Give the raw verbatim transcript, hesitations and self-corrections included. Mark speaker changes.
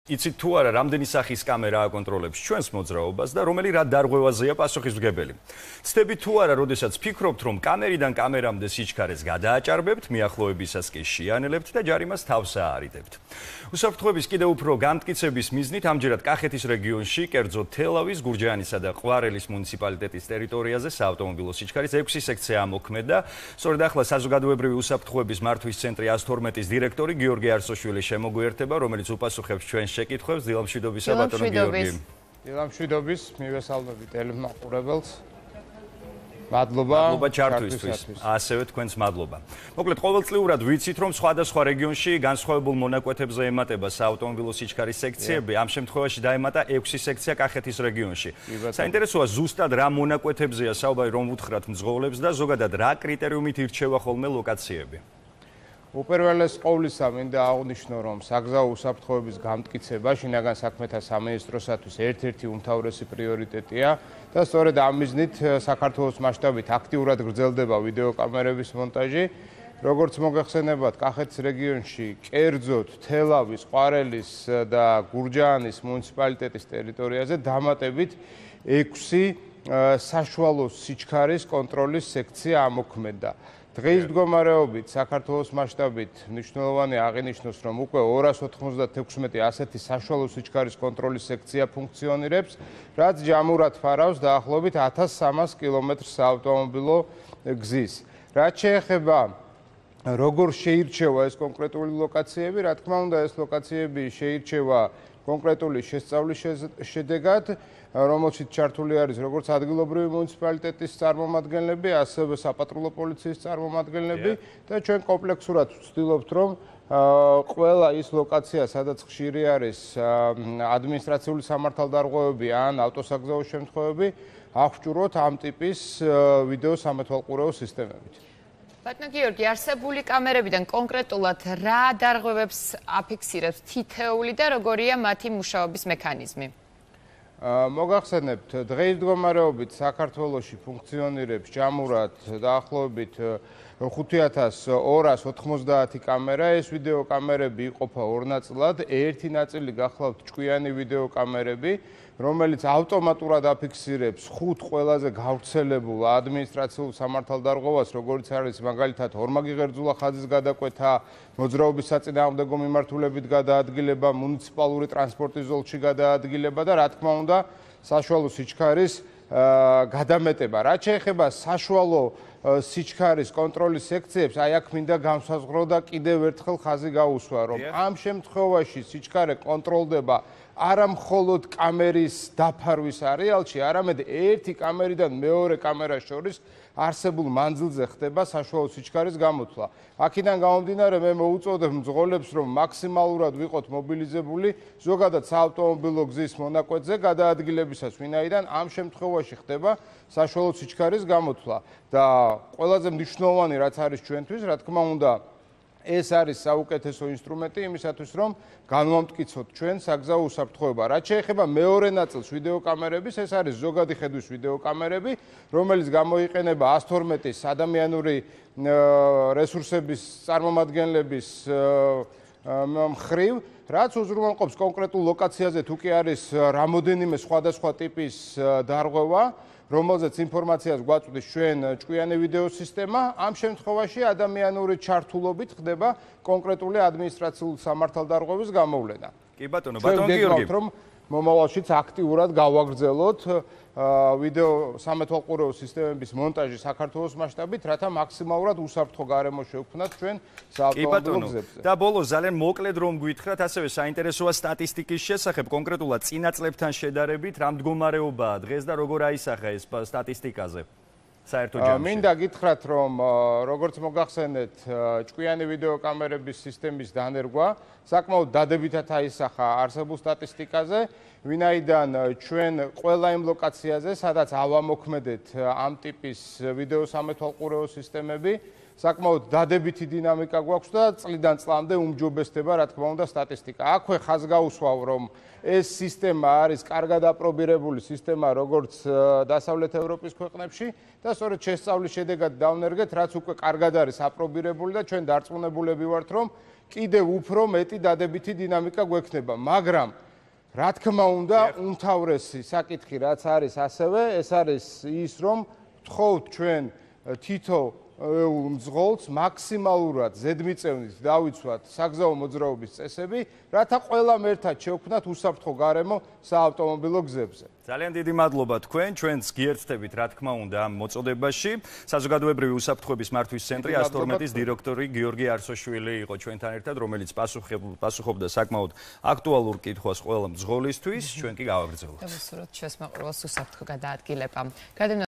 Speaker 1: იცით თუ არა, რამდენი სახის კამერა აკონტროლებს ჩვენს მოძრაობას და რომელი რა დარღვევაზეა პასუხისმგებელი. ცდებით თუ არა, როდესაც ფიქრობთ, რომ კამერიდან კამერამდე სიჩქარეს გადააჭარბებთ, მიახლოებისას კი შეანელებთ და ჯარიმას თავს აარიდებთ. უსაფრთხოების კიდევ უფრო განმტკიცების მიზნით ამჯერად კახეთის რეგიონში, კერძოდ თელავის, გურჯაანისა და ყვარელის მუნიციპალიტეტის ტერიტორიაზე საავტომობილო სიჩქარის ექვსი სექცია ამოქმედა. სწორედ ახლა საზოგადოებრივი უსაფრთხოების მართვის ცენტრი ას თორმეტის დირექტორი გიორგი არსოშვილი შემოგვიერთება, რომელიც უპასუხებს ჩვენს შეკითხვებს. დილამშვიდობისა ბატონო გიორგი.
Speaker 2: დილამშვიდობის, მივესალმები ტელემაყურებელს. მადლობა.
Speaker 1: მადლობა ჩართვისთვის. ასევე თქვენს მადლობა. მოკლედ, ყოველწლიურად ვიცით, რომ სხვადასხვა რეგიონში განსხვავებულ მონაკვეთებზე ემატება საავტომობილო სიჩქარის სექციები. ამ შემთხვევაში დაემატა ექვსი სექცია კახეთის რეგიონში. საინტერესოა ზუსტად რა მონაკვეთებზეა საუბარი, რომ უთხრათ მძღოლებს და ზოგადად რა კრიტერიუმით ირჩევა ხოლმე ლოკაციები.
Speaker 2: უპირველეს ყოვლისა მინდა აღვნიშნო, რომ საგზაო უსაფრთხოების გამტკიცება შინაგან საქმეთა სამინისტროსათვის ერთ-ერთი უმთავრესი პრიორიტეტია და სწორედ ამ მიზნით საქართველოს მასშტაბით აქტიურად გრძელდება ვიდეოკამერების მონტაჟი. როგორც მოგეხსენებათ, კახეთის რეგიონში, კერძოდ თელავის, ყვარელის და გურჯაანის მუნიციპალიტეტის ტერიტორიაზე დამატებით ექვსი საშუალო სიჩქარის კონტროლის სექცია ამოქმედა. დღის მდგომარეობით საქართველოს მასშტაბით მნიშვნელოვანი აღინიშნოს, რომ უკვე ორას ოთხმოცდათექვსმეტი ასეთი საშუალო სიჩქარის კონტროლის სექცია ფუნქციონირებს, რაც ჯამურად ფარავს დაახლოებით ათას სამას კილომეტრს საავტომობილო გზის. რაც შეეხება როგორ შეირჩევა ეს კონკრეტული ლოკაციები, რა თქმა უნდა, ეს ლოკაციები შეირჩევა კონკრეტული შესწავლის შედეგად, რომელშიც ჩართული არის როგორც ადგილობრივი მუნიციპალიტეტის წარმომადგენლები, ასევე საპატრულო პოლიციის წარმომადგენლები და ჩვენ კომპლექსურად ვცდილობთ, რომ ყველა ის ლოკაცია, სადაც ხშირი არის ადმინისტრაციული სამართალდარღვევები ან ავტოსაგზაო შემთხვევები, აღჭურვოთ ამ ტიპის ვიდეო სამეთვალყურეო სისტემებით.
Speaker 3: ბატონო გიორგი, არსებული კამერებიდან კონკრეტულად რა დარღვევებს აფიქსირებს თითეული და როგორია მათი მუშაობის მექანიზმი?
Speaker 2: მოგახსენებთ, დღის მდგომარეობით საქართველოში ფუნქციონირებს ჯამურად დაახლოებით ხუთი ათას ორას ოთხმოცდაათი კამერა. ეს ვიდეო კამერები იყოფა ორ ნაწილად. ერთი ნაწილი გახლავთ ჭკვიანი ვიდეო კამერები, რომელიც ავტომატურად აფიქსირებს ხუთ ყველაზე გავრცელებულ ადმინისტრაციულ სამართალდარღვევას, როგორც არის მაგალითად ორმაგი ღერძულა ხაზის გადაკვეთა, მოძრაობის საწინააღმდეგო მიმართულებით გადაადგილება, მუნიციპალური ტრანსპორტის ზოლში გადაადგილება და რა თქმა უნდა, საშუალო სიჩქარის გადამეტება. რაც შეეხება საშუალო სიჩქარის კონტროლის სექციებს, აი აქ მინდა განსაზღვრო და კიდევ ერთხელ ხაზი გაუსვა, რომ ამ შემთხვევაში სიჩქარე კონტროლდება არა მხოლოდ კამერის დაფარვის არეალში, არამედ ერთი კამერიდან მეორე კამერას შორის არსებულ მანძილზე ხდება საშუალო სიჩქარის გამოთვლა. აქედან გამომდინარე, მე მოუწოდებ მძღოლებს, რომ მაქსიმალურად ვიყოთ მობილიზებული ზოგადად საავტომობილო გზის მონაკვეთზე გადაადგილებისას, ვინაიდან ამ შემთხვევაში ხდება საშუალო სიჩქარის გამოთვლა. და ყველაზე მნიშვნელოვანი რაც არის ჩვენთვის, რა თქმა უნდა, ეს არის საუკეთესო ინსტრუმენტი იმისათვის, რომ განვამტკიცოთ ჩვენ საგზაო უსაფრთხოება. რაც შეეხება მეორე ნაწილს ვიდეოკამერების, ეს არის ზოგადი ხედვის ვიდეოკამერები, რომელიც გამოიყენება ას თორმეტის ადამიანური რესურსების წარმომადგენლების მხრივ, რაც უზრუნველყოფს კონკრეტულ ლოკაციაზე თუ კი არის რამოდენიმე სხვადასხვა ტიპის დარღვევა, რომელზეც ინფორმაციას გვაწვდის ჩვენ ჭკვიანი ვიდეო სისტემა, ამ შემთხვევაში ადამიანური ჩართულობით ხდება კონკრეტული ადმინისტრაციული სამართალდარღვევის გამოვლენა.
Speaker 1: კი ბატონო, ბატონო გიორგი,
Speaker 2: რომ მომავალშიც აქტიურად გავაგრძელოთ ვიდეო სამეთვალყურეო სისტემების მონტაჟი საქართველოს მასშტაბით, რათა მაქსიმალურად უსაფრთხო გარემო შევქმნათ ჩვენ საავტომობილო გზებზე.
Speaker 1: და ბოლოს ძალიან მოკლედ რომ გვითხრათ, ასევე საინტერესოა სტატისტიკის შესახებ, კონკრეტულად წინა წლებთან შედარებით, რა მდგომარეობაა დღეს და როგორ აისახა ეს სტატისტიკაზე?
Speaker 2: მინდა გითხრათ, რომ როგორც მოგახსენეთ, ჭკვიანი ვიდეოკამერების სისტემის დანერგვა საკმაოდ დადებითად აისახა არსებულ სტატისტიკაზე, ვინაიდან ჩვენ ყველა იმ ლოკაციაზე, სადაც ავამოქმედეთ ამ ტიპის ვიდეო სამეთვალყურეო სისტემები, საკმაოდ დადებითი დინამიკა გვაქვს და წლიდან წლამდე უმჯობესდება, რა თქმა უნდა, სტატისტიკა. აქვე ხაზგაუსვავ, რომ ეს სისტემა არის კარგად აპრობირებული სისტემა, როგორც დასავლეთ ევროპის ქვეყნებში და სწორედ შესწავლის შედეგად დავნერგეთ, რაც უკვე კარგად არის აპრობირებული და ჩვენ დარწმუნებულები ვართ, რომ კიდევ უფრო მეტი დადებითი დინამიკა გვექნება, მაგრამ რა თქმა უნდა, უმთავრესი საკითხი რაც არის ასევე, ეს არის ის, რომ ვთხოვთ ჩვენ თითო მძღოლს მაქსიმალურად ზედმიწევნით დავიცვათ საგზაო მოძრაობის წესები, რათა ყველამ ერთად შევქმნათ უსაფრთხო გარემო საავტომობილო გზებზე.
Speaker 1: ძალიან დიდი მადლობა თქვენ, ჩვენც გიერთდებით, რა თქმა უნდა, ამ მოწოდებაში. საზოგადოებრივი უსაფრთხოების მართვის ცენტრი ას თორმეტის დირექტორი გიორგი არსოშვილი იყო ჩვენთან ერთად, რომელიც პასუხობდა საკმაოდ აქტუალურ კითხვას ყველა მძღოლისთვის, ჩვენ კი გავაგრძელებთ.
Speaker 3: და ვუსურვოთ ჩვენს მაყურებელს უსაფრთხო გადაადგილება.